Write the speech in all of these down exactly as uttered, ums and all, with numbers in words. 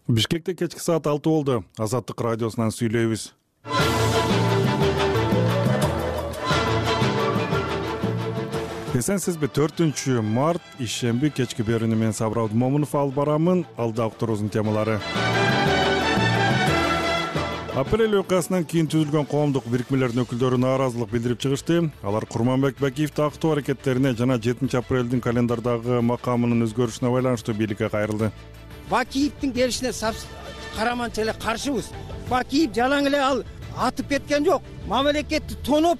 Бишкекте кечки саат алты болду. Азаттык радиосунан сүйлөйбүз. Эсенсизби? төртүнчү март ишемби кечки берүүнү мен Сабыр Абдумомунов алып барамын. Алда уктуруубуздун темалары. Апрель окуясынан кийин түзүлгөн коомдук бирикмелердин өкүлдөрү нааразылык билдирип чыгышты. Алар Курманбек Бакиевди актоо аракеттерине жана жетинчи апрелдин календардагы макамынын өзгөрүшүнө байланыштуу бийликке кайрылды. Бакиевдин келишине караманча эле каршыбыз. Бакиев жалаң эле ал атып кеткен жок. Мамлекетти тоноп.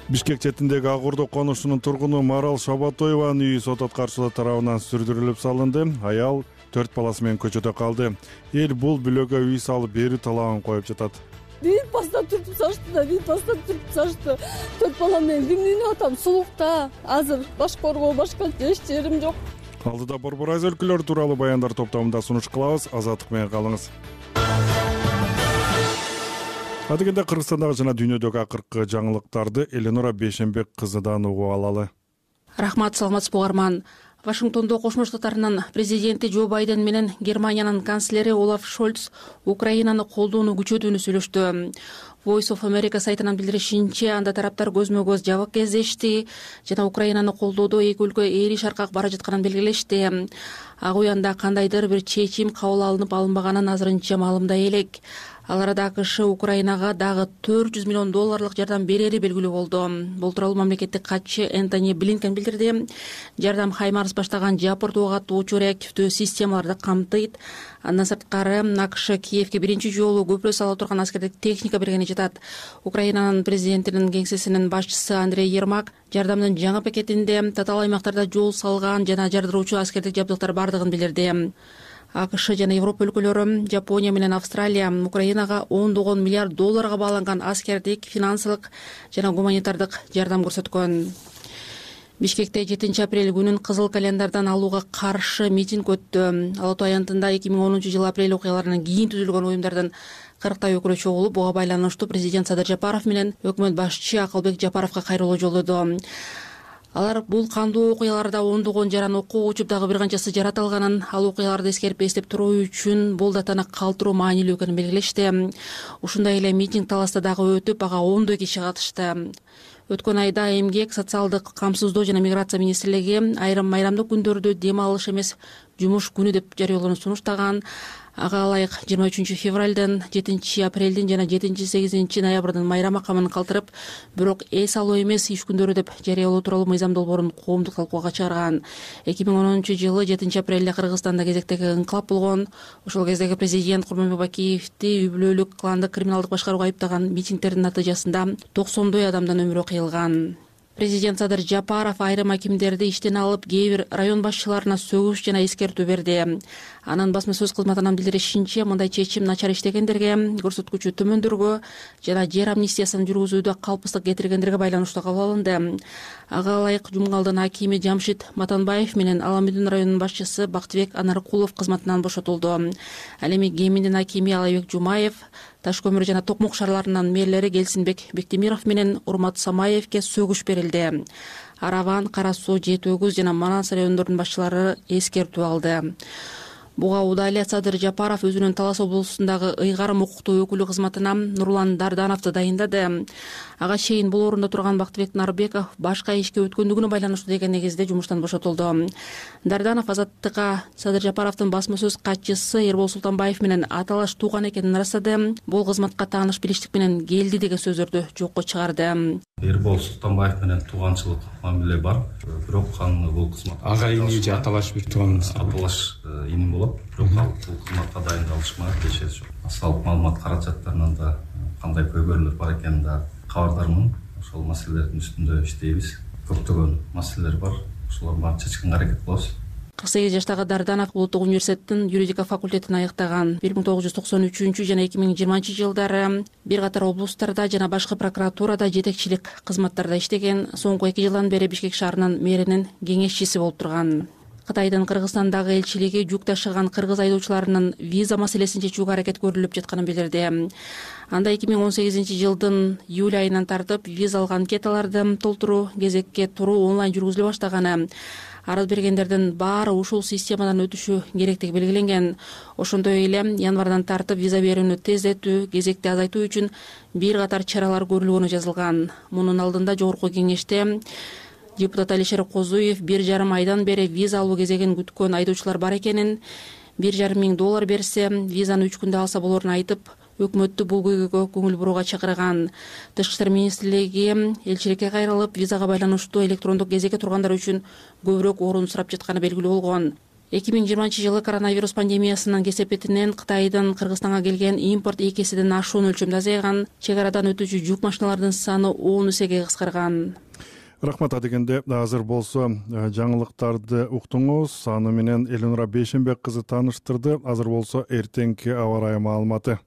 Бишкек четиндеги Ак Ордо конушунун тургуну Марал Шабатоеванын үйү сот аткарчылар тарабынан сүрдүрүлүп салынды. Аял төрт баласы менен көчөдө калды. Эл бул бүлөгө үй салып берүү талабын коюп жатат. Бир бастан түртүп сашты да, бир бастан түртүп сашты. Төрт балам менен кимдин атам сулукта. Азыр баш коргоо башка эч жерим жок. Алдыда борбор айз өлкөлөр тууралуу баяндар топтомунда сунуш кылабыз. Азаттык менен калыңыз. Адегенде Кыргызстандагы жана дүйнөдөгү акыркы жаңылыктарды Эленора Бейшенбек кызыдан угуп алалы. Рахмат, саламатсызбы угарман. Вашингтондо Кошмо Штаттарынын президенти Джо Байден менен Германиянын канцлери Олаф Шольц Украинаны колдоону күчөтүүнү сүйлөштү. Voice of America сайтынан билдиришинче, анда тараптар көзмө-көз жабык кездешти жана Украинаны колдоодо эки өлкө ээри шаркак бара жатканын белгилешти. Ак үй анда кандайдыр бир чечим кабыл алынып алынбаганын азырынча маалымдай элек. Ал арада АКШ Украинага дагы төрт жүз миллион долларлык жардам берери белгилүү болду. Бул тууралуу мамлекеттик катчы Энтони Блинкен билдирди. Жардам Хаймарс баштаган Жапырт ок атуучу реактивдүү системаларды камтыйт. Андан сырткары АКШ Киевке биринчи жолу көпүрө сала турган аскердик техника бергени жатат. Украинанын президентинин кеңсесинин башчысы Андрей Ермак жардамдын жаңы пакетинде татаал аймактарда жол салган жана жардыруучу аскердик жабдыктар бардыгын билдирди. АКШ жана Европа өлкөлөрү, Жапония менен Австралия Украинага ондогон миллиард долларга бааланган аскердик, финансылык жана гуманитардык жардам көрсөткөн. Бишкекте жетинчи апрель күнүн кызыл календардан алууга каршы митинг өттү. Ала Тоо аянтында эки миң онунчу жылы апрель окуяларынан кийин түзүлгөн уюмдардын кырктай өкүлү чогулуп, буга байланыштуу президент Садыр Жапаров менен өкмөт башчы Акылбек Жапаровго кайрылуу жолдоду. Алар бул кандуу окуяларда ондогон жаран окуу учуп дагы бир канчасы жарат алганын, ал окуяларды эскерип эстеп туруу үчүн бул датаны калтыруу маанилүү экенин белгилешти. Ушундай эле митинг таласта дагы өтүп, ага ондой киши катышты. Өткөн айда Эмгек, социалдык камсыздоо жана миграция министрлиги айрым майрамдык күндөрдү дем алыш эмес жумуш күнү деп жарыялоону сунуштаган. Ага ылайык жыйырма үчүнчү февралдын, жетинчи апрелдин жана жетинчи сегизинчи ноябрдын майрам макамын калтырып, бирок эс алуу эмес иш күндөрү деп жарыялоо тууралуу мыйзам долбоорун коомдук талкууга чыгарган. эки миң онунчу жылы жетинчи апрелде Кыргызстанда кезектеги инкылап болгон. Ошол кездеги президент Курманбек Бакиевди үй бүлөлүк кландык криминалдык башкарууга айыптаган митингдердин натыйжасында токсондой адамдын өмүрү кыйылган. Президент Садыр Жапаров айрым акимдерди иштен алып, кээ бир район башчыларына сөгүш жана эскертүү берди. Анын басма сөз кызматынан билдиришинче, мындай чечим начар иштегендерге, көрсөткүчү төмөндөргө жана жер амнистиясын жүргүзүүдө калпсыздык кетиргендерге байланыштуу кабыл алынды. Ага ылайык Жумгалдын акими Жамшит Матанбаев менен Аламүдүн районунун башчысы Бактыбек Анаркулов кызматынан бошотулду. Ал эми Кеминдин акими Алайбек Жумаев, Таш көмүр жана Токмок шаарларынын мэрлери Келсинбек Бектемиров менен Урмат Самаевке сөгүш берилди. Араван, Кара Суу, Жети Өгүз жана Манас райондорунун башчылары эскертүү алды. Буга Удалия Садыр Жапаров өзүнүн Талас облусундагы ыйгарым укуктуу өкүлү кызматына Нурлан Дардановду дайындады. Ага чейин бул орунда турган Бактыбек Нарбеков башка ишке өткөндүгүнө байланыштуу деген негизде жумуштан бошотулду. Дарданов Азаттыкка Садыр Жапаровдун басма сөз катчысы Эрбол Султанбаев менен аталаш тууган экенин ырастады. Бул кызматка тааныш билиштик менен келди деген сөздөрдү жокко чыгарды. Эрбол Султанбаев менен тууганчылык мамиле бар. Бирок аны бул кызмат агайыны же аталаш бир тууганыңыз? Аталаш иним болот. Бирок ал бул кызматка дайындалышмага кечеси жок. Салык маалымат каражаттарынан да кандай көйгөйлөр бар экенин да кабардармын. Ошол маселелердин үстүндө иштейбиз. Көптөгөн маселелер бар. Ошолорду баарын чечкенге аракет кылабыз. кырк сегиз жаштагы Дарданов Улуттук университеттин юридика факультетин аяктаган. бир миң тогуз жүз токсон үчүнчү жана эки миң жыйырманчы жылдары бир катар облустарда жана башкы прокуратурада жетекчилик кызматтарда иштеген. Соңку эки жылдан бери Бишкек шаарынын мэринин кеңешчиси болуп турган. Кытайдын Кыргызстандагы элчилиги жүк ташыган кыргыз айдоочуларынын виза маселесин чечүүгө аракет көрүлүп жатканын билдирди. Анда эки миң он сегизинчи жылдын июль айынан тартып визалык анкеталарды толтуруу, кезекке туруу онлайн жүргүзүлө баштаганы. арыз бергендердин баары ушул системадан өтүшү керектиги белгиленген. Ошондой эле январдан тартып виза берүүнү тездетүү, кезекти азайтуу үчүн бир катар чаралар көрүлгөнү жазылган. Мунун алдында Жогорку Кеңеште депутат Алишер Козуев бир жарым айдан бери виза алуу кезегин күткөн айдоочулар бар экенин, бир жарым миң доллар берсе визаны үч күндө алса болорун айтып, өкмөттү бул көйгөйгө көңүл бурууга чакырган. Тышкы иштер министрлиги элчиликке кайрылып, визага байланыштуу электрондук кезекке тургандар үчүн көбүрөөк орун сурап жатканы белгилүү болгон. эки миң жыйырманчы жылы коронавирус пандемиясынын кесепетинен Кытайдын Кыргызстанга келген импорт эки эседен ашуун өлчөмдө азайган, чек арадан өтүүчү жүк машиналардын саны он эсеге кыскарган. Рахмат. Адегенде азыр болсо жаңылыктарды уктуңуз. Аны менен Элнура Бейшенбек кызы тааныштырды. Азыр болсо эртеңки аба ырайы маалыматы.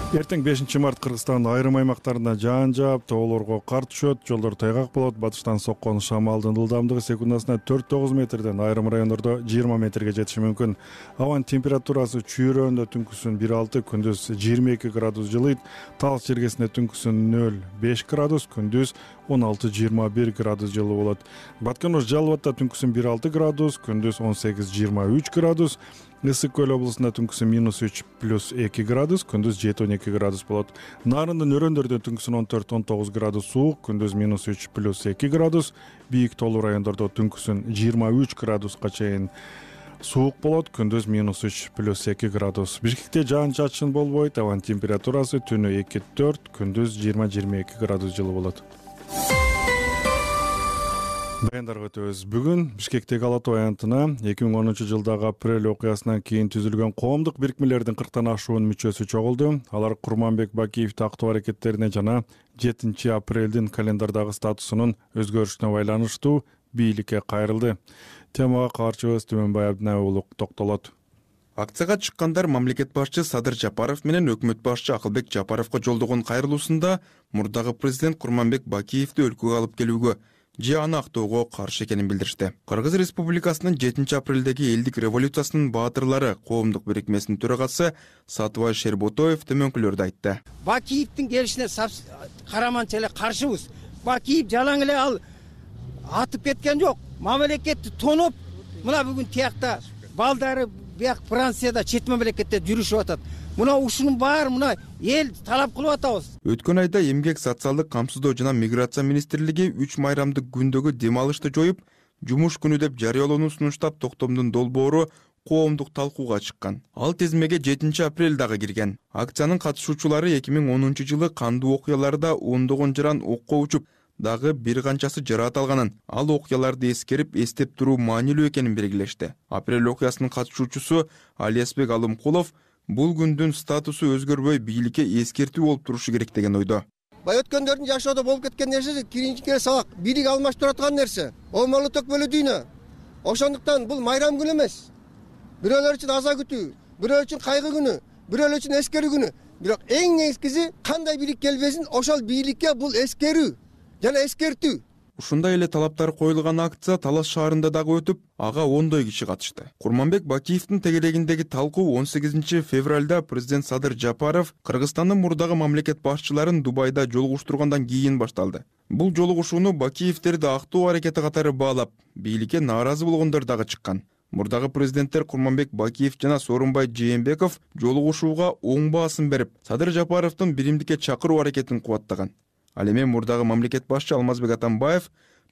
Эртең бешинчи март Кыргызстандын айрым аймактарында жаан жаап, тоолорго кар түшөт, жолдор тайгак болот. Батыштан соккон шамалдын ылдамдыгы секундасына төрт тогуз метрден, айрым райондордо жыйырма метрге жетиши мүмкүн. Абанын температурасы чүйрөндө түнкүсүн бир алты, күндүз жыйырма эки градус жылыйт. Талас жергесинде түнкүсүн нөл беш градус, күндүз он алты жыйырма бир градус жылуу болот. Баткен Жалал Абадта түнкүсүн бир алты градус, күндүз он сегиз жыйырма үч градус. Ысык Көл облусунда түнкүсүн минус үч плюс эки градус, күндүз жети он эки градус болот. Нарындын өрөөндөрдө түнкүсүн он төрт он тогуз градус суук, күндүз минус үч плюс эки градус. Бийик тоолуу райондордо түнкүсүн жыйырма үч градуска чейин суук болот, күндүз минус үч плюс эки градус. Бишкекте жаан чачын болбойт, абанын температурасы түнү эки төрт, күндүз жыйырма жыйырма эки градус жылуу болот. Баяндарга өтөбүз. Бүгүн Бишкектеги Ала Тоо аянтына эки миң онунчу жылдагы апрель окуясынан кийин түзүлгөн коомдук бирикмелердин кырктан ашуун мүчөсү чогулду. Алар Курманбек Бакиев тактоо аракеттерине жана жетинчи апрелдин календардагы статусунун өзгөрүшүнө байланыштуу бийликке кайрылды. Темага каарчыбыз Түмөнбай Абдинай уулу токтолот. Акцияга чыккандар мамлекет башчы Садыр Жапаров менен өкмөт башчы Акылбек Жапаровго жолдогон кайрылуусунда мурдагы президент Курманбек Бакиевди өлкөгө алып келүүгө же аны актоого каршы экенин билдиришти. Кыргыз Республикасынын жетинчи апрелдеги элдик революциясынын баатырлары коомдук бирикмесинин төрагасы Сатыбай Шерботоев төмөнкүлөрдү айтты. Бакиевдин келишине караманча эле каршыбыз. Бакиев жалаң эле ал атып кеткен жок. Мамлекетти тоноп, мына бүгүн тиякта балдары бияк Францияда чет мамлекетте жүрүшүп атат. Мына ушунун баары мына эл талап кылып атабыз. Өткөн айда Эмгек социалдык камсыздоо жана миграция министрлиги үч майрамдык күндөгү дем алышты жоюп, жумуш күнү деп жарыялоону сунуштап, токтомдун долбоору коомдук талкууга чыккан. Ал тизмеге жетинчи апрель дагы кирген. Акциянын катышуучулары эки миң онунчу жылы кандуу окуяларда ондогон жаран окко учуп, дагы бир канчасы жараат алганын, ал окуяларды эскерип, эстеп туруу маанилүү экенин белгилешти. Апрель окуясынын катышуучусу Алиасбек Алымкулов бул күндүн статусу өзгөрбөй бийликке эскертүү болуп турушу керек деген ойдо. Бай өткөндөрдүн жашоодо болуп кеткен нерсе кийинки сабак бийлик алмаштырып турган нерсе. Омолу төкпөлүү дүйнө. Ошондуктан бул майрам күнү эмес. Бирөөлөр үчүн аза күтүү, бирөөлөр үчүн кайгы күнү, бирөөлөр үчүн эскерүү күнү. Бирок эң негизгиси кандай бийлик келбесин, ошол бийликке бул эскерүү жана эскертүү. Ушундай эле талаптар коюлган акция Талас шаарында дагы өтүп, ага ондой киши катышты. Курманбек Бакиевдин тегерегиндеги талкуу он сегизинчи февралда президент Садыр Жапаров Кыргызстандын мурдагы мамлекет башчыларын Дубайда жолугуштургандан кийин башталды. Бул жолугушууну Бакиевтерди актоо аракети катары баалап, бийликке нааразы болгондор дагы чыккан. Мурдагы президенттер Курманбек Бакиев жана Сооронбай Жээнбеков жолугушууга оң баасын берип, Садыр Жапаровдун биримдикке чакыруу аракетин кубаттаган. Ал эми мурдагы мамлекет башчы Алмазбек Атамбаев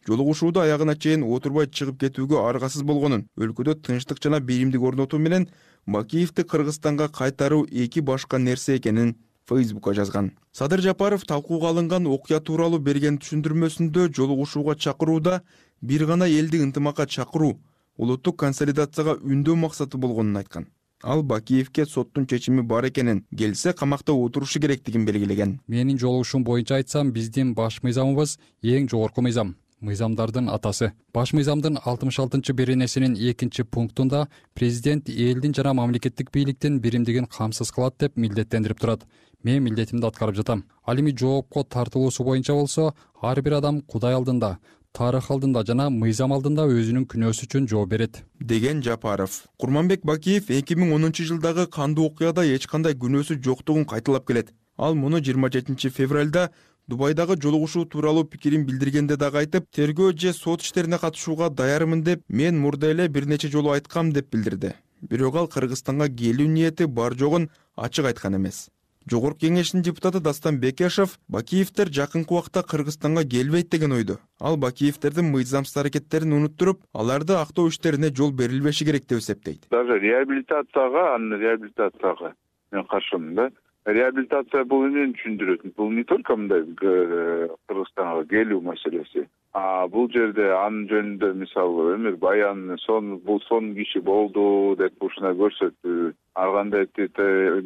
жолугушууда аягына чейин отурбай чыгып кетүүгө аргасыз болгонун, өлкөдө тынчтык жана биримдик орнотуу менен Бакиевди Кыргызстанга кайтаруу эки башка нерсе экенин Фейсбукка жазган. Садыр Жапаров талкууга алынган окуя тууралуу берген түшүндүрмөсүндө жолугушууга чакырууда бир гана элди ынтымакка чакыруу, улуттук консолидацияга үндөө максаты болгонун айткан. Ал Бакиевке соттун чечими бар экенин, келсе камакта отурушу керектигин белгилеген. Менин жолугушуум боюнча айтсам, биздин баш мыйзамыбыз эң жогорку мыйзам. Мыйзамдардын атасы. Баш мыйзамдын алтымыш алтынчы беренесинин экинчи пунктунда президент элдин жана мамлекеттик бийликтин биримдигин камсыз кылат деп милдеттендирип турат. Мен милдетимди аткарып жатам. Ал эми жоопко тартылуусу боюнча болсо, ар бир адам Кудай алдында, тарых алдында жана мыйзам алдында өзүнүн күнөөсү үчүн жооп берет, деген Жапаров. Курманбек Бакиев эки миң онунчу жылдагы кандуу окуяда эч кандай күнөөсү жоктугун кайталап келет. Ал муну жыйырма жетинчи февралда Дубайдагы жолугушуу тууралуу пикирин билдиргенде дагы айтып, тергөө же сот иштерине катышууга даярмын деп мен мурда эле бир нече жолу айткам деп билдирди. Бирок ал Кыргызстанга келүү ниети бар жогун ачык айткан эмес. Жогорку кеңештин депутаты Дастан Бекешев Бакиевдер жакынкы убакта Кыргызстанга келбейт деген ойдо. Ал Бакиевдердин мыйзамсыз аракеттерин унуттуруп, аларды актоо иштерине жол берилбеши керек деп эсептейт. Даже реабилитацияга, анын реабилитацияга мен каршымын да. Реабилитация бул эмнени түшүндүрөт? Бул не только мындай Кыргызстанга келүү маселеси. А бул жерде анын жөнүндө мисалы эме баян сон бул сон киши болду деп ушуна көрсөтүү, ар кандай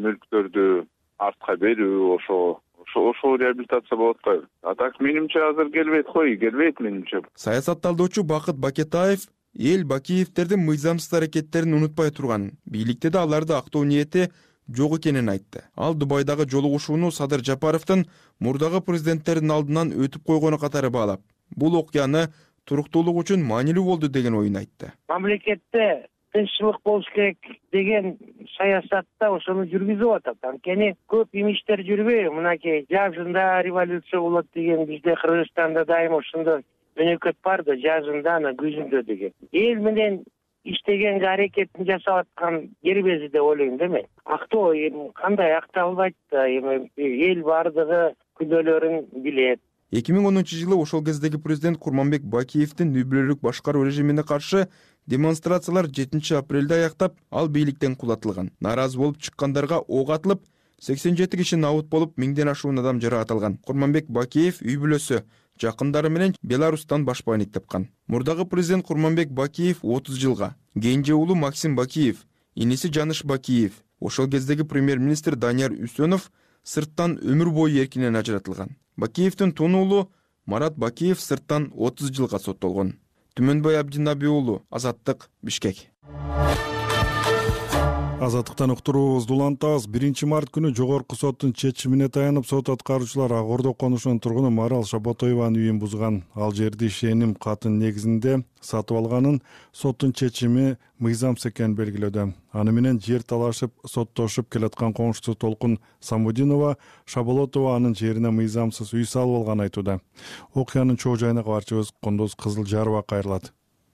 мүлктөрдү артка берүү, ошо ошо реабилитация болот го. А так менимче азыр келбейт кой, келбейт менимче. Саясат талдоочу Бакыт Бакетаев эл Бакиевдердин мыйзамсыз аракеттерин унутпай турганын, бийликте да аларды актоо ниети жок экенин айтты. Ал Дубайдагы жолугушууну Садыр Жапаровдун мурдагы президенттердин алдынан өтүп койгону катары баалап, бул окуяны туруктуулук үчүн маанилүү болду деген оюн айтты. Мамлекетте тынччылык болуш керек деген саясатта ошону жүргүзүп атат. Анткени көп имиштер жүрбөйбү. Мынакей жазында революция болот деген бизде Кыргызстанда дайым ошондой өнөкөт бар да, жазында, ана күзүндө деген. Эл менен иштегенге аракетин жасап аткан дербези деп ойлойм да мен. Актоо кандай акталбайт да, эми эл бардыгы күнөөлөрүн билет. эки миң онунчу жылы ошол кездеги президент Курманбек Бакиевдин үй бүлөлүк башкаруу режимине каршы демонстрациялар жетинчи апрелде аяктап, ал бийликтен кулатылган. Нааразы болуп чыккандарга ок атылып, сексен жети киши набут болуп, миңден ашуун адам жаракат. Курманбек Бакиев үй бүлөсү, жакындары менен Беларустан башпайник тапкан. Мурдагы президент Курманбек Бакиев отуз жылга, кенже уулу Максим Бакиев, иниси Жаныш Бакиев, ошол кездеги премьер-министр Данияр Үсөнов сырттан өмүр бою эркинен ажыратылган. Бакиевдин тун уулу Марат Бакиев сырттан отуз жылга соттолгон. Түмөнбай Абдинаби уулу, Азаттык, Бишкек. Азаттыктан уктуруубузду улантабыз. биринчи март күнү жогорку соттун чечимине таянып, сот аткаруучулар Ак Ордо конушунун тургуну Марал Шаботоеванын үйүн бузган. Ал жерди ишеним катын негизинде сатып алганын соттун чечими мыйзамсыз экенин белгилөөдө. Аны менен жер талашып, соттошуп келаткан коңшусу Толкун Самудинова Шаболотова анын жерине мыйзамсыз үй салып алганын айтууда. Окуянын чоо жайына кабарчыбыз Кондоз Кызылжарова кайрылат.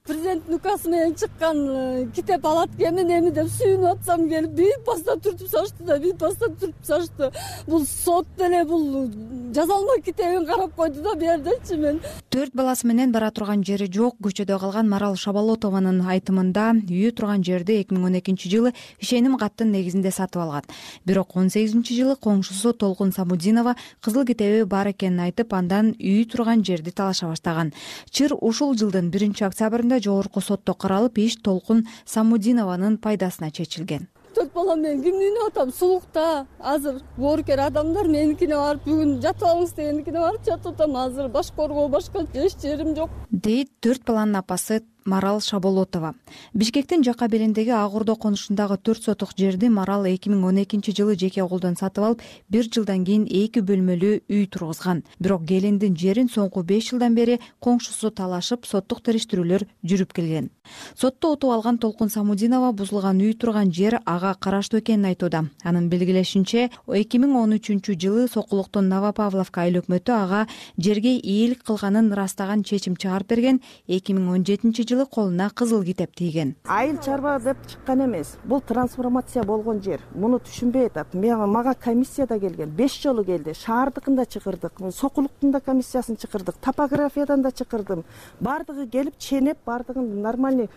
Президенттин указы менен чыккан китеп алат экенмин, эми деп сүйүнүп атсам келип бийик баста түртүп салышты да, бийик баста түртүп салышты. Бул сот деле бул жазалма китебин карап койду да бердичи мен. Төрт баласы менен бара турган жери жок көчөдө калган Марал Шаболотованын айтымында үйү турган жерди эки миң он экинчи жылы ишеним каттын негизинде сатып алган. Бирок он сегизинчи жылы коңшусу Толкун Самудинова кызыл китеби бар экенин айтып, андан үйү турган жерди талаша баштаган. Чыр ушул жылдын биринчи октябрында жогорку сотто каралып, иш Толкун Самудинованын пайдасына чечилген. Төрт балам менен кимдин атам сулукта. Азыр боорукер адамдар меникине барып бүгүн жатып алыңыз дегендикине барып жатып атам. Азыр баш коргоо башка эч жерим жок, дейт төрт баланын апасы Марал Шаболотова. Бишкектин жака белиндеги Ак Ордо конушундагы төрт сотук жерди Марал эки миң он экинчи жылы жеке колдон сатып алып, бир жылдан кийин эки бөлмөлүү үй тургузган. Бирок келиндин жерин соңку беш жылдан бери коңшусу талашып, соттук териштирүүлөр жүрүп келген. Сотто утуп алган Толкун Самудинова бузулган үй турган жер ага караштуу экенин айтууда. Анын белгилешинче, эки миң он үчүнчү жылы Сокулуктун Новопавловка айыл өкмөтү ага жерге ийгилик кылганын ырастаган чечим чыгарып берген. эки миң он жетинчи жылы колуна кызыл китеп тийген. Айыл чарба деп чыккан эмес. Бул трансформация болгон жер. Муну түшүнбөй атат. Мага комиссияда келген. беш жолу келди. Шаардыкын да чакырдык, Сокулуктун да комиссиясын чакырдык, топографиядан да чакырдым. Бардыгы келип ченеп, бардыгын нормальный,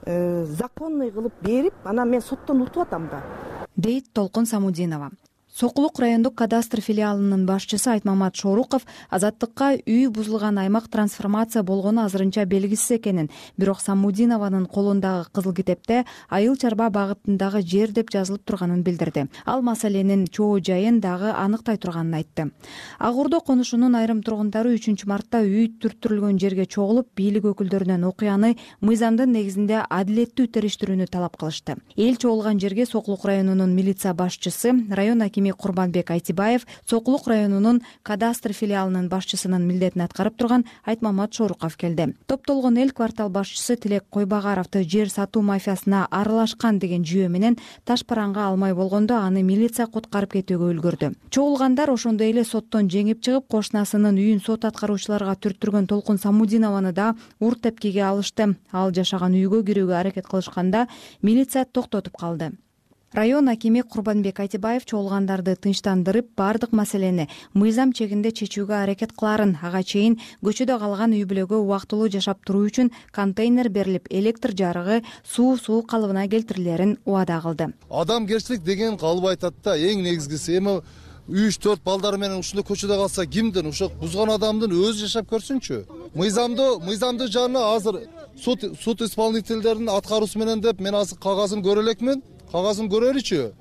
законный кылып берип, анан мен соттон утуп атам да, дейт Толкун Самудинова. Сокулук райондук кадастр филиалынын башчысы Айтмамат Шоруков Азаттыкка үй бузулган аймак трансформация болгону азырынча белгисиз экенин, бирок Самудинованын колундагы кызыл китепте айыл чарба багытындагы жер деп жазылып турганын билдирди. Ал маселенин чоо жайын дагы аныктай турганын айтты. Ак Ордо конушунун айрым тургундары үчүнчү мартта үй түрттүрүлгөн жерге чогулуп, бийлик өкүлдөрүнөн окуяны мыйзамдын негизинде адилеттүү териштирүүнү талап кылышты. Эл чогулган жерге Сокулук районунун милиция башчысы, район акими Курманбек Айтибаев Сокулук районунун кадастр филиалынын башчысынын милдетин аткарып турган Айтмамат Шоруков келди. Топтолгон эл квартал башчысы Тилек Койбагаровду жер сатуу мафиясына аралашкан деген жүйө менен таш параңга алмай болгондо аны милиция куткарып кетүүгө үлгүрдү. Чогулгандар ошондой эле соттон жеңип чыгып, кошунасынын үйүн сот аткаруучуларга түрттүргөн Толкун Самудинованы да ур тепкиге алышты. Ал жашаган үйгө кирүүгө аракет кылышканда милиция токтотуп калды. Район акими Курманбек Айтибаев чогулгандарды тынчтандырып, бардык маселени мыйзам чегинде чечүүгө аракет кыларын, ага чейин көчөдө калган үй бүлөгө убактылуу жашап туруу үчүн контейнер берилип, электр жарыгы, суу суу калыбына келтирилерин убада кылды. Адамгерчилик деген калып айтат да, эң негизгиси эми үч төрт балдары менен ушундай көчөдө калса кимдин, ошо бузган адамдын өзү жашап көрсүнчү. Мыйзамды, мыйзамды жана азыр суд суд исполнительдеринин аткаруусу менен деп мен азыр кагазын көрө элекмин. Кагазын көрөлүчү.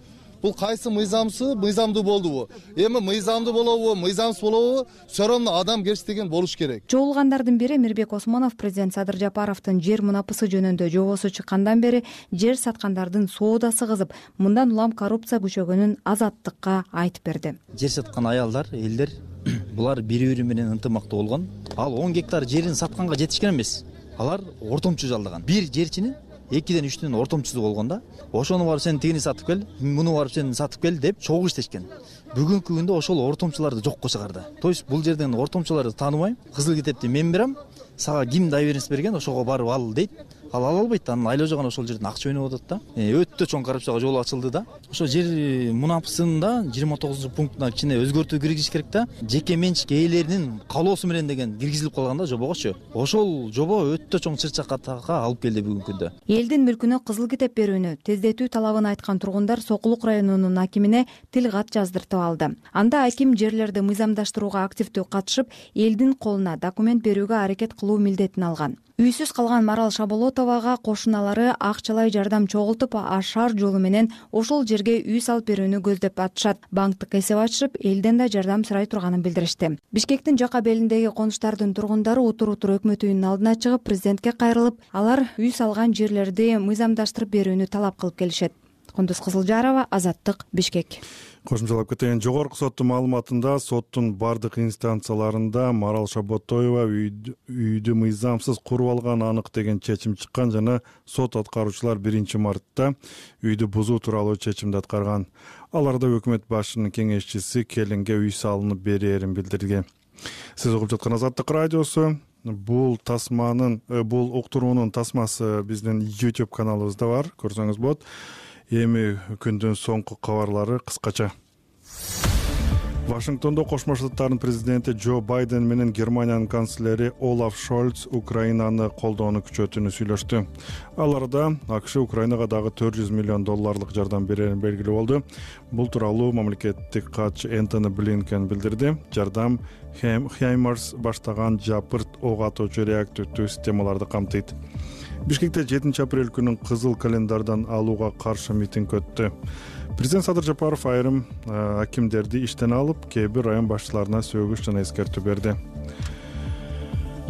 Бул кайсы мыйзамсы, мыйзамдуу болдубу? Эми мыйзамдуу болобу, мыйзамсыз болобу? Все равно адамгерчилик деген болуш керек. Чогулгандардын бири Мирбек Осмонов президент Садыр Жапаровдун жер мунапысы жөнүндө жобосу чыккандан бери жер саткандардын соодасы кызып, мындан улам коррупция күчөгөнүн Азаттыкка айтып берди. Жер саткан аялдар, элдер булар бири-бири менен ынтымактуу болгон. Ал он гектар жерин сатканга жетишкен эмес. Алар ортомчу жалдаган. Бир жерчини экиден үчтүн ортомчусу болгон да. Ошону барып сен тигини сатып кел, муну барып сен сатып кел деп чогуу иштешкен. Бүгүнкү күндө ошол ортомчуларды жокко чыгарды. То есть бул жерден ортомчуларды тааныбайм. Кызыл китепти мен берем, сага ким доверенность берген, ошого барып ал дейт. Ал ала албайт да, анын айлажаган ошол жерден акча өнүп атат да. Өтө чоң коррупцияга жол ачылды да. Ошо жер мунапысында жыйырма тогузунчу пунктуна кичине өзгөртүү киргизиш керек да. Жеке менчик ээлеринин каалоосу менен деген киргизилип калган да жобогочу. Ошол жобо өтө чоң чыр-чакатага алып келди бүгүнкү күндө. Элдин мүлкүнө кызыл китеп берүүнү тездетүү талабын айткан тургундар Сокулук районунун акимине тил кат жаздыртып алды. Анда аким жерлерди мыйзамдаштырууга активдүү катышып, элдин колуна документ берүүгө аракет кылуу милдетин алган. Үйсүз калган Марал Шаболотовага кошуналары акчалай жардам чогултуп, ашар жолу менен ошол жерге үй салып берүүнү көздөп атышат. Банктык эсеп ачышып, элден да жардам сурай турганын билдиришти. Бишкектин жака белиндеги конуштардын тургундары утур-утур өкмөт үйүнүн алдына чыгып, президентке кайрылып, алар үй салган жерлерди мыйзамдаштырып берүүнү талап кылып келишет. Кундуз Кызылжарова, Азаттык, Бишкек. Кошумчалап кетейин. Жогорку соттун маалыматында соттун бардык инстанцияларында Марал Шаботоева үйдү мыйзамсыз куруп алган анык деген чечим чыккан жана сот аткаруучулар биринчи мартта үйдү бузуу тууралуу чечимди аткарган. Аларда өкмөт башчынын кеңешчиси келинге үй салынып берээрин билдирген. Сиз угуп жаткан Азаттык радиосу. Бул тасманын, бул уктуруунун тасмасы биздин YouTube каналыбызда бар, көрсөңүз болот. Эми күндүн соңку кабарлары кыскача. Вашингтондо Кошмо Штаттардын президенти Джо Байден менен Германиянын канцлери Олаф Шольц Украинаны колдоону күчөтүүнү сүйлөштү. Аларда АКШ Украинага дагы төрт жүз миллион долларлык жардам берерин белгилүү болду. Бул тууралуу мамлекеттик катчы Энтони Блинкен билдирди. Жардам Хаймарс баштаган жапырт ок атуучу реактивдүү системаларды камтыйт. Бишкекте жетинчи апрель күнүн кызыл календардан алууга каршы митинг өттү. Президент Садыр Жапаров айрым акимдерди иштен алып, кээ бир район башчыларына сөгүш жана эскертүү берди.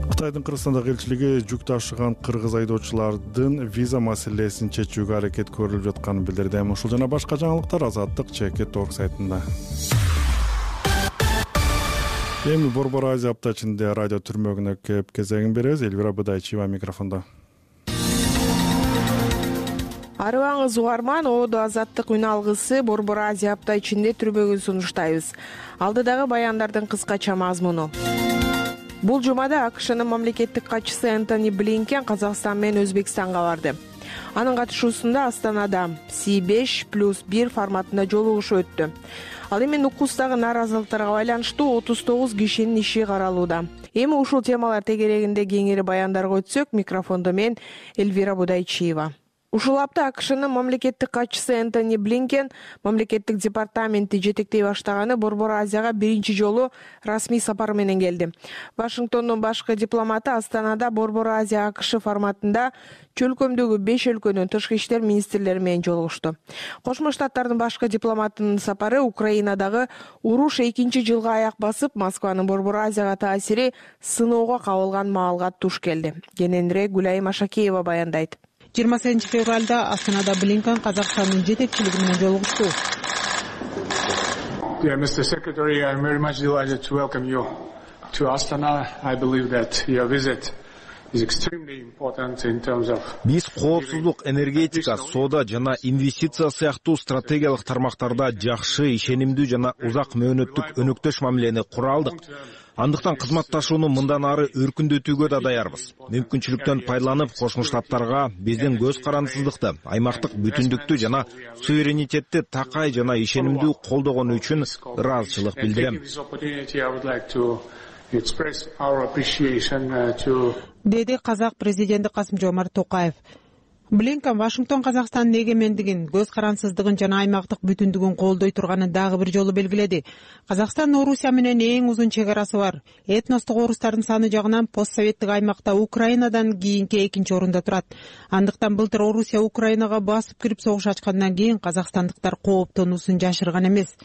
Кытайдын Кыргызстандагы элчилиги жүк ташыган кыргыз айдоочулардын виза маселесин чечүүгө аракет көрүлүп жатканын билдирди. Ушул жана башка жаңылыктар Азаттык чекит орг сайтында. Эми Борбор Азия апта ичинде радио түрмөгүнө кеп кезегин беребиз. Элвира Быдайчиева микрофондо. Арыбаңыз угарман, Оодо Азаттык үн алгысы Борбор Азия апта ичинде түрмөгүн сунуштайбыз. Алдыдагы баяндардын кыскача мазмуну. Бул жумада АКШнын мамлекеттик катчысы Энтони Блинкен Казакстан менен Өзбекстанга барды. Анын катышуусунда Астанада Си беш плюс бир форматында жолугушуу өттү. Ал эми Нукустагы нааразылыктарга байланыштуу отуз тогуз кишинин иши каралууда. Эми ушул темалар тегерегинде кеңири баяндарга өтсөк, микрофондо мен Элвира Будайчиева. Ушул апта АКШнын мамлекеттик катчысы Энтони Блинкен мамлекеттик департаменти жетектей баштаганы Борбор Азияга биринчи жолу расмий сапар менен келди. Вашингтондун башкы дипломаты Астанада Борбор Азия АКШ форматында чөлкөмдөгү беш өлкөнүн тышкы иштер министрлери менен жолугушту. Кошмо Штаттардын башкы дипломатынын сапары Украинадагы уруш экинчи жылга аяк басып, Москванын Борбор Азияга таасири сыноого кабылган маалга туш келди. Кененирээк Гүлайым Ашакеева баяндайт. жыйырма сегизинчи февралда Астанада Блинкен Казакстандын жетекчилиги менен жолугушту. Yeah, Mister Secretary, I'm very much delighted to welcome you to Astana. I believe that your visit is extremely important in terms of. Биз коопсуздук, энергетика, соода жана инвестиция сыяктуу стратегиялык тармактарда жакшы, ишенимдүү жана узак мөөнөттүк өнөктөш мамилени кура алдык. Андыктан кызматташууну мындан ары өркүндөтүүгө да даярбыз. Мүмкүнчүлүктөн пайдаланып, Кошмо Штаттарга биздин көз карандысыздыкты, аймактык бүтүндүктү жана суверенитетти такай жана ишенимдүү колдогону үчүн ыраазычылык билдирем. Деди казак президенти Касым-Жомарт Токаев. Блинкен Вашингтон Казакстандын эгемендигин, көз карансыздыгын жана аймактык бүтүндүгүн колдой турганын дагы бир жолу белгиледи. Казакстан Орусия менен эң узун чек арасы бар. Этностук орустардын саны жагынан постсоветтик аймакта Украинадан кийинки экинчи орунда турат. Андыктан былтыр Орусия Украинага басып кирип согуш ачкандан кийин казакстандыктар кооптонуусун жашырган эмес.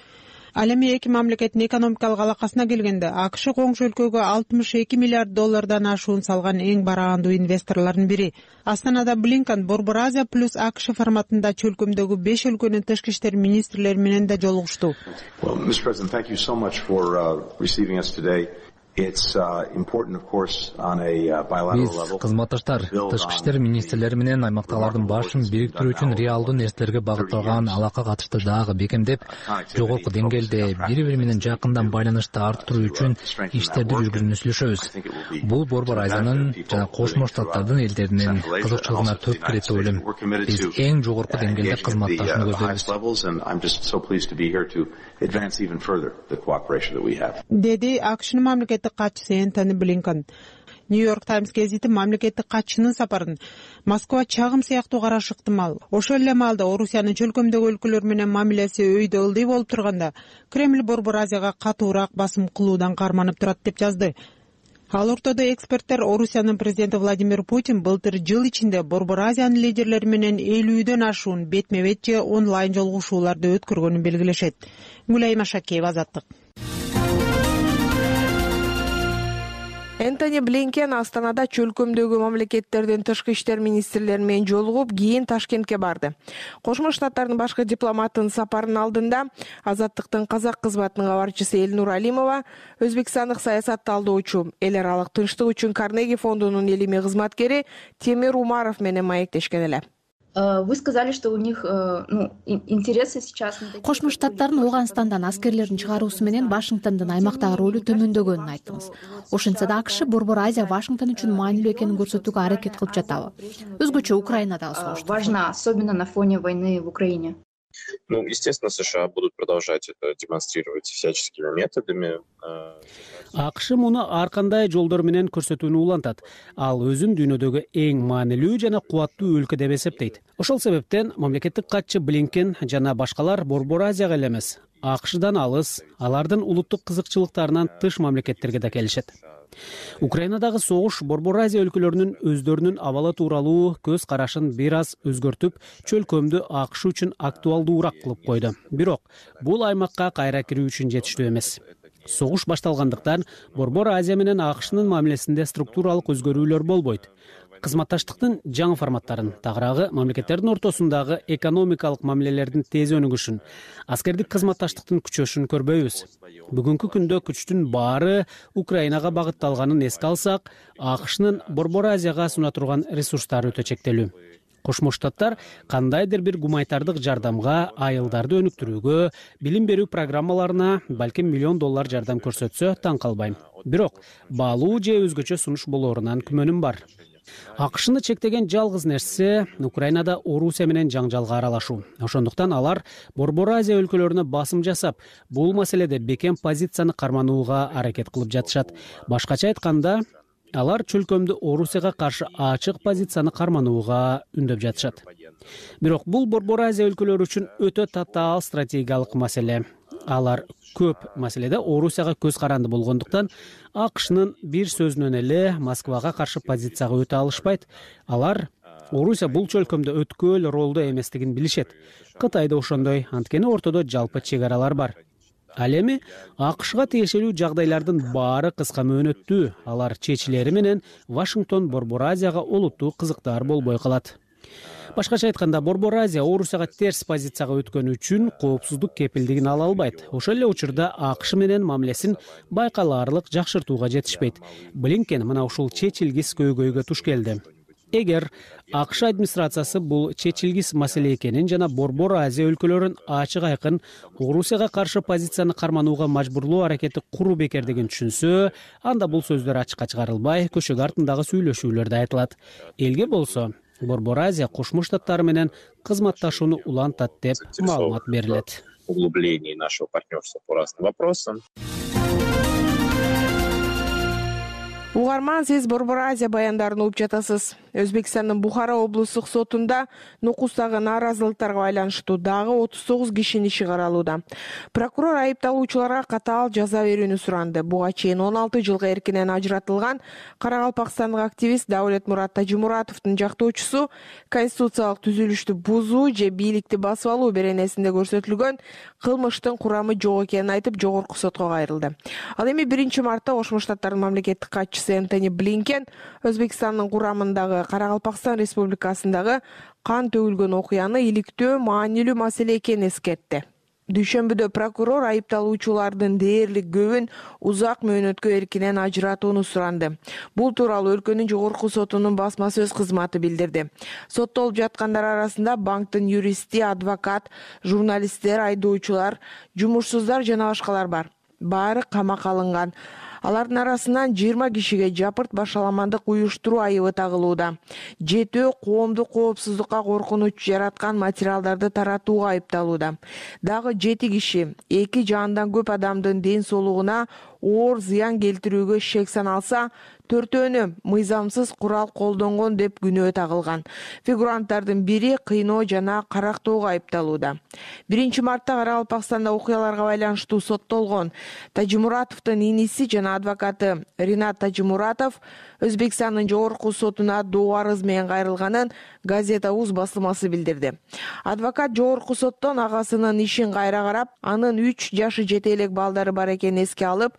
Ал эми эки мамлекеттин экономикалык алакасына келгенде АКШ коңшу өлкөгө алтымыш эки миллиард доллардан ашуун салган эң бараандуу инвесторлордун бири. Астанада Блинкен Борбор Азия плюс АКШ форматында чөлкөмдөгү беш өлкөнүн тышкы иштер министрлери менен да жолугушту. Биз кызматташтар тышкы иштер министрлери менен аймактагылардын башын бириктирүү үчүн реалдуу нерселерге багытталган алака катышты дагы бекемдеп, жогорку деңгээлде бири бири менен жакындан байланышты арттыруу үчүн иштерди жүргүзүүнү сүйлөшөбүз. Бул Борбор Азиянын жана Кошмо Штаттардын элдеринин кызыкчылыгына төп кирет деп ойлойм. Биз эң жогорку деңгээлде кызматташууну көздөйбүз. Деди АКШнын мамлекеттик катчысы Энтони Блинкен. Нью-Йорк Таймс гезити мамлекеттик катчынын сапарын Москва чагым сыяктуу карашы ыктымал. Ошол эле маалда Орусиянын чөлкөмдөгү өлкөлөр менен мамилеси өйдө ылдый болуп турганда Кремль Борбор Азияга катуураак басым кылуудан карманып турат деп жазды. Ал ортодо эксперттер Орусиянын президенти Владимир Путин былтыр жыл ичинде Борбор Азиянын лидерлери менен элүүдөн ашуун бетме-бет же онлайн жолугушууларды өткөргөнүн белгилешет. Гүлайым Ашакеева, Азаттык. Энтони Блинкен Астанада чөлкөмдөгү мамлекеттердин тышкы иштер министрлери менен жолугуп, кийин Ташкентке барды. Кошмо Штаттардын башкы дипломатынын сапарынын алдында Азаттыктын казак кызматынын кабарчысы Элнур Алимова, өзбекстандык саясат талдоочу, эл аралык тынчтык үчүн Карнеги фондунун элимий кызматкери Темир Умаров менен маектешкен эле. Вы сказали, что у них ну, интересы сейчас. Кошмо Штаттардын Ооганстандан аскерлерин чыгаруусу менен Вашингтондун аймактагы ролу төмөндөгөнүн айттыңыз. Ошентсе да АКШ Борбор Азия Вашингтон үчүн маанилүү экенин көрсөтүүгө аракет кылып жатабы? Өзгөчө Украинадагы согуш. Важна, особенно на фоне войны в Украине. Ну, естественно, США будут продолжать это демонстрировать всяческими методами. АКШ муну ар кандай жолдор менен көрсөтүүнү улантат. Ал өзүн дүйнөдөгү эң маанилүү жана кубаттуу өлкө деп эсептейт. Ошол себептен мамлекеттик катчы Блинкен жана башкалар Борбор Азияга эле эмес, АКШдан алыс, алардын улуттук кызыкчылыктарынан тыш мамлекеттерге да келишет. Украинадагы согуш Борбор Азия өлкөлөрүнүн өздөрүнүн абалы тууралуу көз карашын бир аз өзгөртүп, чөлкөмдү АКШ үчүн актуалдуураак кылып койду. Бирок бул аймакка кайра кирүү үчүн жетиштүү эмес. Согуш башталгандыктан Борбор Азия менен АКШнын мамилесинде структуралык өзгөрүүлөр болбойт. Кызматташтыктын жаңы форматтарын, тагыраагы мамлекеттердин ортосундагы экономикалык мамилелердин тез өнүгүшүн, аскердик кызматташтыктын күчөшүн көрбөйбүз. Бүгүнкү күндө күчтүн баары Украинага багытталганын эске алсак, АКШнын Борбор Азияга суна турган ресурстары өтө чектелүү. Кошмо Штаттар кандайдыр бир гуманитардык жардамга, айылдарды өнүктүрүүгө, билим берүү программаларына балким миллион доллар жардам көрсөтсө таң калбайм. Бирок баалуу же өзгөчө сунуш болоорунан күмөнүм бар. АКШны чектеген жалгыз нерсе Украинада Орусия менен жаңжалга аралашуу. Ошондуктан алар Борбор Азия өлкөлөрүнө басым жасап, бул маселеде бекем позицияны карманууга аракет кылып жатышат. Башкача айтканда, алар чөлкөмдү Орусияга каршы ачык позицияны карманууга үндөп жатышат. Бирок бул Борбор Азия өлкөлөрү үчүн өтө татаал стратегиялык маселе. Алар көп маселеде Орусияга көз каранды болгондуктан АКШнын бир сөзүнөн эле Москвага каршы позицияга өтө алышпайт. Алар Орусия бул чөлкөмдө өткөл ролдо эместигин билишет. Кытай да ошондой, анткени ортодо жалпы чек аралар бар. Ал эми АКШга тиешелүү жагдайлардын баары кыска мөөнөттүү, алар чечилери менен Вашингтон Борбор Азияга олуттуу кызыктар болбой калат. башкача айтканда Борбор Азия Орусияга терс позицияга өткөнү үчүн коопсуздук кепилдигин ала албайт. Ошол эле учурда АКШ менен мамилесин байкалаарлык жакшыртууга жетишпейт. Блинкен мына ушул чечилгис көйгөйгө туш келди. Эгер АКШ администрациясы бул чечилгис маселе экенин жана Борбор Азия өлкөлөрүн ачык айкын Орусияга каршы позицияны карманууга мажбурлоо аракети куруу бекердигин түшүнсө, анда бул сөздөр ачыкка чыгарылбай, көчөгө артындагы сүйлөшүүлөрдө айтылат. Элге болсо Борбор Азия Кошмо Штаттары менен кызматташууну улантат деп маалымат берилет. Углубление нашего партнерства по разным вопросам. Угарман, сиз Борбор Азия баяндарын угуп жатасыз. Өзбекстандын Бухара облустук сотунда нукустагы нааразылыктарга байланыштуу дагы отуз тогуз кишинин иши каралууда. Прокурор айыпталуучуларга катаал жаза берүүнү суранды. Буга чейин он алты жылга эркинен ажыратылган каракалпакстандык активист Даулетмурат Тажимуратовдун жактоочусу конституциялык түзүлүштү бузуу же бийликти басып алуу беренесинде көрсөтүлгөн кылмыштын курамы жок экенин айтып, жогорку сотко кайрылды. Ал эми биринчи мартта Кошмо Штаттардын мамлекеттик катчысы Энтони Блинкен Өзбекстандын курамындагы Каракалпакстан Республикасындагы кан төгүлгөн окуяны иликтөө маанилүү маселе экенин эскертти. Дүйшөмбүдө прокурор айыпталуучулардын дээрлик көбүн узак мөөнөткө эркинен ажыратууну суранды. Бул тууралуу өлкөнүн жогорку сотунун басма сөз кызматы билдирди. Соттолуп жаткандар арасында банктын юристи, адвокат, журналисттер, айдоочулар, жумушсуздар жана башкалар бар. Баары камакка алынган. Алардын арасынан жыйырма кишиге жапырт башаламандык уюштуруу айыбы тагылууда. Жетөө коомдук коопсуздукка коркунуч жараткан материалдарды таратууга айыпталууда. Дагы жети киши эки же андан көп адамдын ден соолугуна оор зыян келтирүүгө шек саналса, төртөөнү мыйзамсыз курал колдонгон деп күнөө тагылган. Фигуранттардын бири кыйноо жана карактоого айыпталууда. биринчи мартта Каракалпакстанда окуяларга байланыштуу соттолгон Тажимуратовдун иниси жана адвокаты Ринат Тажимуратов Өзбекстандын жогорку сотуна доо арыз менен кайрылганын Газета Уз басылмасы билдирди. Адвокат жогорку соттон агасынын ишин кайра карап, анын үч жашы жете элек балдары бар экенин эске алып,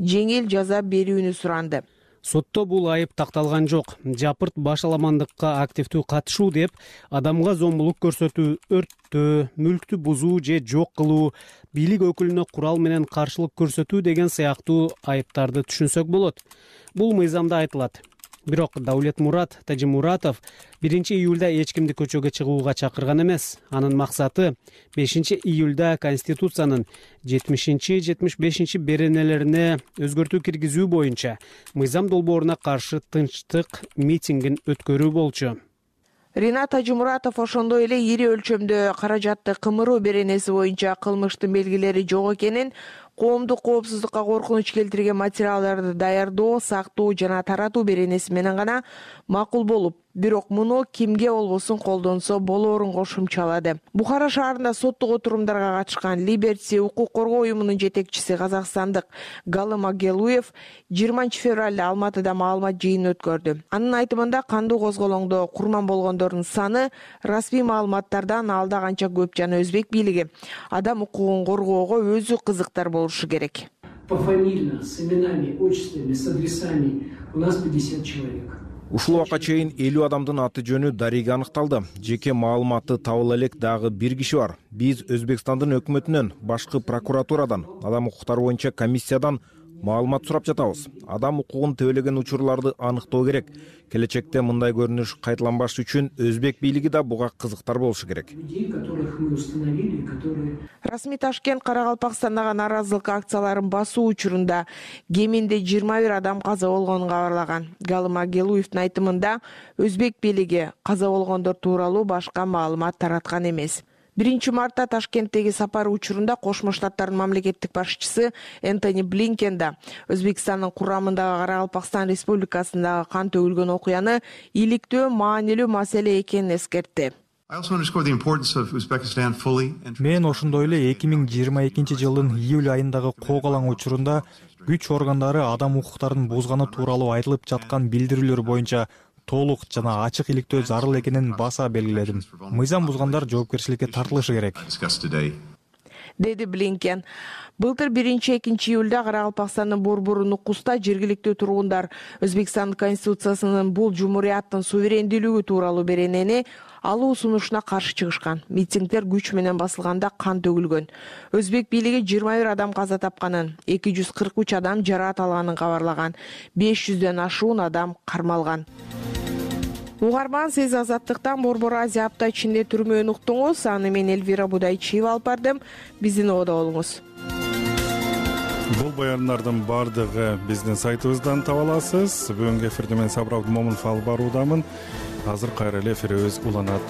жеңил жаза берүүнү суранды. Сотто бул айып такталган жок. Жапырт башаламандыкка активдүү катышуу деп адамга зомбулук көрсөтүү, өрттөө, мүлктү бузуу же жок кылуу, бийлик өкүлүнө курал менен каршылык көрсөтүү деген сыяктуу айыптарды түшүнсөк болот. Бул мыйзамда айтылат. Бирок Даулетмурат Тажимуратов биринчи июлда эч кимди көчөгө чыгууга чакырган эмес. Анын максаты бешинчи июлда Конституциянын жетимишинчи жетимиш бешинчи беренелерине өзгөртүү киргизүү боюнча мыйзам долбооруна каршы тынчтык митингин өткөрүү болчу. Ринат Тажимуратов ошондой эле ири өлчөмдө каражатты кымыруу беренеси боюнча кылмыштын белгилери жок экенин, коомдук коопсуздукка коркунуч келтирген материалдарды даярдоо, сактоо жана таратуу беренеси менен гана макул болуп, бирок муну кимге болбосун колдонсо болоорун кошумчалады. Бухара шаарында соттук отурумдарга катышкан Либерти укук коргоо уюмунун жетекчиси казакстандык Галым Агелуев жыйырманчы февралда Алматыда маалымат жыйынын өткөрдү. Анын айтымында кандуу козголоңдо курман болгондордун саны расмий маалыматтардан алда канча көп жана өзбек бийлиги адам укугун коргоого өзү кызыктар болушу керек. Пофамильно, с именами, отчествами, с адресами у нас пятьдесят человек. Ушул убакка чейин элүү адамдын аты жөнү дареге аныкталды. Жеке маалыматы табыла элек дагы бир киши бар. Биз Өзбекстандын өкмөтүнөн, башкы прокуратурадан, адам укуктары боюнча комиссиядан маалымат сурап жатабыз. Адам укугун тебелеген учурларды аныктоо керек. Келечекте мындай көрүнүш кайталанбаш үчүн өзбек бийлиги да буга кызыктар болушу керек. Расмий Ташкент Каракалпакстандагы нааразылык акцияларын басуу учурунда кеминде жыйырма бир адам каза болгонун кабарлаган. Галым Агелуевдин айтымында өзбек бийлиги каза болгондор тууралуу башка маалымат тараткан эмес. биринчи мартта Ташкенттеги сапары учурунда Кошмо Штаттардын мамлекеттик башчысы Энтони Блинкен да Өзбекстандын курамындагы Каракалпакстан Республикасындагы кан төгүлгөн окуяны иликтөө маанилүү маселе экенин эскертти. Мен ошондой эле эки миң жыйырма экинчи жылдын июль айындагы коогалаң учурунда күч органдары адам укуктарын бузганы тууралуу айтылып жаткан билдирүүлөр боюнча толук жана ачык иликтөө зарыл экенин баса белгиледим. Мыйзам бузгандар жоопкерчиликке тартылышы керек, деди Блинкен. Былтыр биринчи экинчи июлда Каракалпакстандын Борбору Нукуста жергиликтүү тургундар Өзбекстандын Конституциясынын бул жумурияттын суверендүүлүгү тууралуу беренени алуу сунушуна каршы чыгышкан. Митингдер күч менен басылганда кан төгүлгөн. Өзбек бийлиги жыйырма бир адам каза тапканын, эки жүз кырк үч адам жараат алганын кабарлаган. беш жүздөн ашуун адам кармалган. Угарман, сиз Азаттыктан Борбор Азия апта ичинде түрмөөнү уктуңуз. Аны мен Элвира Будайчиева алып бардым. Биздин ободо болуңуз. Бул баяндардын баардыгы биздин сайтыбыздан таба аласыз. Бүгүнкү эфирде мен Сабыр Абдымомунов алып баруудамын. Азыр кайра эле эфирибиз уланат.